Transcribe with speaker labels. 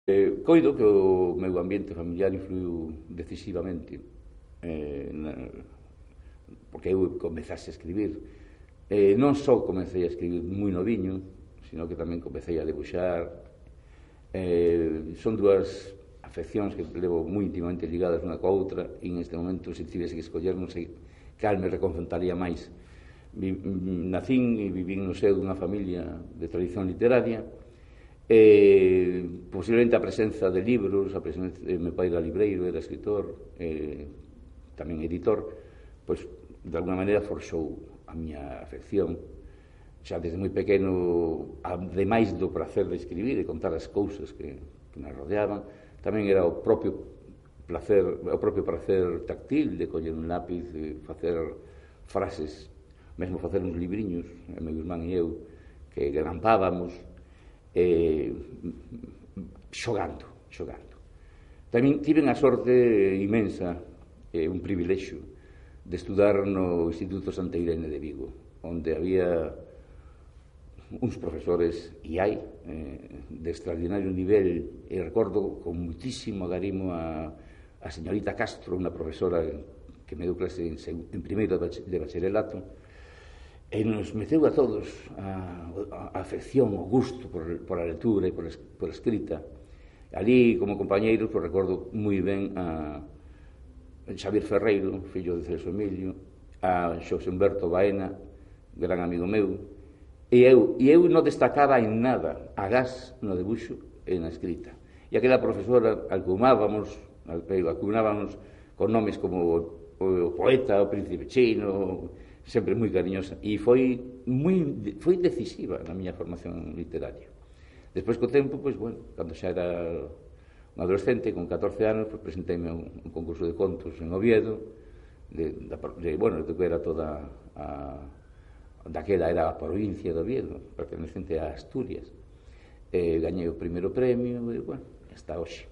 Speaker 1: Coido que o meu ambiente familiar influiu decisivamente, porque eu comezase a escribir. Non só comecei a escribir moi noviño, sino que tamén comecei a debuxar. Son dúas afeccións que levo moi íntimamente ligadas unha coa outra, e neste momento, se tivese que escoller, non sei cal me reconfortaría máis. Nacín e vivín no seo dunha familia de tradición literaria. Posiblemente a presenza de libros, a presenza de meu pai era libreiro, era escritor, tamén editor, pois de alguna maneira forxou a miña afección. Xa desde moi pequeno, ademais do prazer de escribir e contar as cousas que me rodeaban, tamén era o propio prazer táctil de coller un lápiz, de facer frases, mesmo facer uns libriños, meu irmán e eu, que grampábamos, xogando. Tamén tive a sorte inmensa, un privilexio, de estudar no Instituto Santa Irene de Vigo, onde había uns profesores, e hai, de extraordinario nivel, e recordo con muitísimo agarimo a señorita Castro, unha profesora que me deu clase en primeiro de bacharelato, e nos meteu a todos a afección, o gusto por a lectura e por a escrita. Ali, como compañeiros, pues, recordo moi ben a Xavier Ferreiro, fillo de Celso Emilio, a Xosé Humberto Baena, gran amigo meu, e eu non destacaba en nada, agás no debuxo e na escrita. E aquela profesora alcunábamos con nomes como o poeta, o príncipe chino, sempre moi cariñosa, e foi decisiva na miña formación literaria. Despois, co tempo, pois, bueno, cando xa era un adolescente, con 14 anos, pois, presenteime a un concurso de contos en Oviedo, bueno, de que era toda daquela era a provincia de Oviedo, pertenecente a Asturias. Gañei o primeiro premio, e, bueno, hasta hoxe.